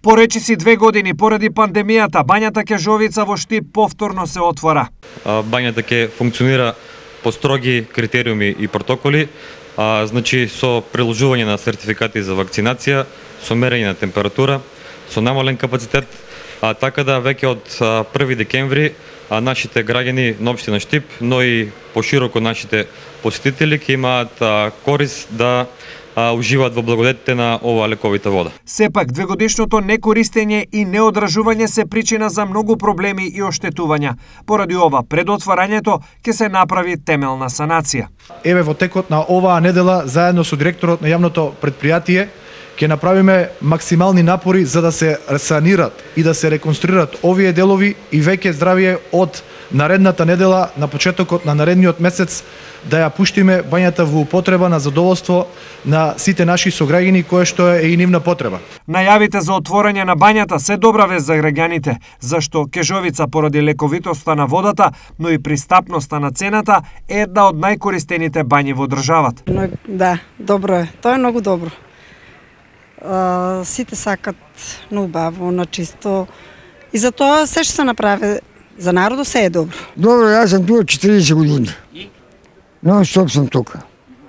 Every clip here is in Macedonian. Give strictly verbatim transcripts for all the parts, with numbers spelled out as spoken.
По речиси две години поради пандемијата, бањата Кежовица во Штип повторно се отвора. Бањата ќе функционира по строги критериуми и протоколи, а, значи со приложување на сертификати за вакцинација, со мерење на температура, со намален капацитет, а, така да веќе од први декември а, нашите граѓани на општина Штип, но и пошироко нашите посетители ќе имаат а, корист да а, уживаат во благодетите на оваа лековита вода. Сепак, двегодишното некористење и неодржување се причина за многу проблеми и оштетувања. Поради ова, пред отварањето ќе се направи темелна санација. Еве во текот на оваа недела, заедно со директорот на јавното предпријатие, ќе направиме максимални напори за да се санират и да се реконструират овие делови и веќе здравие од наредната недела, на почетокот на наредниот месец, да ја пуштиме бањата во употреба на задоволство на сите наши сограѓани, кое што е и нивна потреба. Најавите за отворање на бањата се добра вест за граѓаните, зашто Кежовица поради лековитоста на водата, но и пристапноста на цената е една од најкористените бањи во државата. Но, да, добро е. Тоа е многу добро. Uh, сите сакат на убаво, на чисто. И за тоа се што се направи за народот се е добро. Добро, јас сум тука четириесет години. Но стоп сум тука.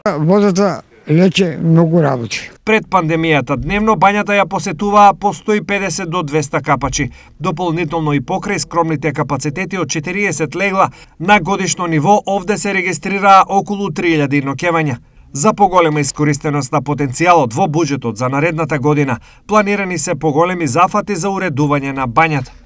Водата лече многу работи. Пред пандемијата дневно бањата ја посетуваа по сто и педесет до двесте капачи. Дополнително и покрај скромните капацитети од четириесет легла, на годишно ниво овде се регистрираа околу три илјади ноќевања. За поголема искористеност на потенцијалот во буџетот за наредната година, планирани се поголеми зафати за уредување на бањата.